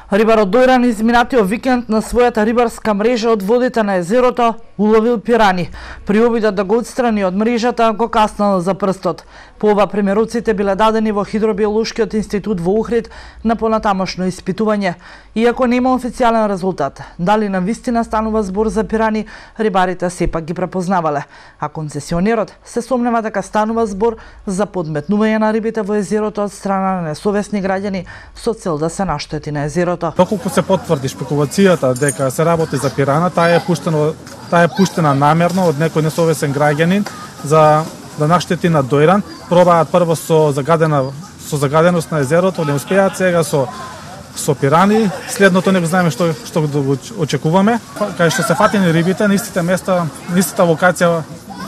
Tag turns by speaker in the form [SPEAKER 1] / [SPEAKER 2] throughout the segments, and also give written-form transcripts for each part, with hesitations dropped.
[SPEAKER 1] Рибар од Дојран изминатиот викенд на својата рибарска мрежа од водите на езерото уловил пирани. При обидот да го отстрани од мрежата го каснал за прстот. По ова примероците биле дадени во Хидробиолошкиот институт во Охрид на понатамошно испитување. Иако нема официјален резултат, дали навистина станува збор за пирани, рибарите сепак ги препознавале, а концесионерот се сомнева дека станува збор за подметнување на рибите во езерото од страна на несовесни граѓани со цел да се наштети на езерото.
[SPEAKER 2] Доколку се потврди шпекулацијата дека се работи за пирана, таа е пуштена намерно од некој несовесен граѓанин за да наштети на Дојран. Пробаат прво со загаденост на езерото, не успеаат, сега со пирани. Следното не знаеме што да го очекуваме. Кај што се фатени рибите на истите места, на истата локација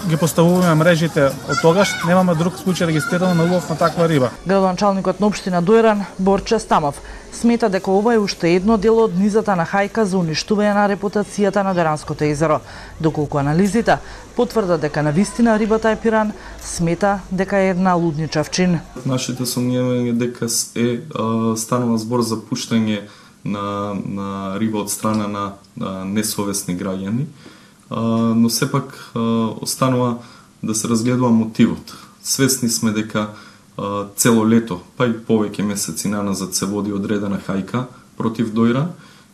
[SPEAKER 2] ги поставуваме мрежите од тогаш, немаме друг случај регистрирано на улов на таква риба.
[SPEAKER 1] Градоначалникот на општина Дојран, Борче Стамов, смета дека ова е уште едно дело од низата на хајка за уништување на репутацијата на Дојранското езеро. Доколку анализите потврдат дека навистина рибата е пиран, смета дека е една лудничав чин.
[SPEAKER 3] Нашите сомневања дека станува збор за пуштање на риба од страна на несовесни граѓани, но сепак останува да се разгледува мотивот. Свесни сме дека цело лето, па и повеќе месеци наназад се води одредена хајка против Дојран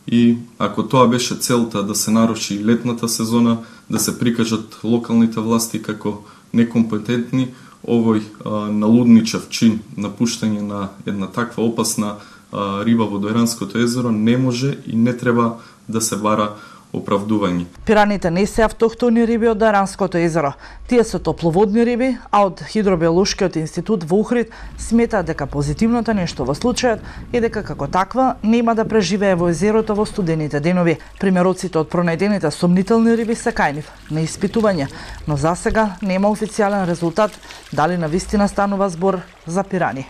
[SPEAKER 3] и ако тоа беше целта да се наруши летната сезона, да се прикажат локалните власти како некомпетентни, овој налудничав чин на пуштање на една таква опасна риба во Дојранското езеро не може и не треба да се бара оправдување.
[SPEAKER 1] Пираните не се автохтони риби од Дојранското езеро. Тие се топловодни риби, а од Хидробиолошкиот институт во Охрид сметаат дека позитивното нешто во случајот е дека како таква нема да преживее во езерото во студените денови. Примероците од пронајдените сомнителни риби се кај нив на испитување, но засега нема официјален резултат дали навистина станува збор за пирани.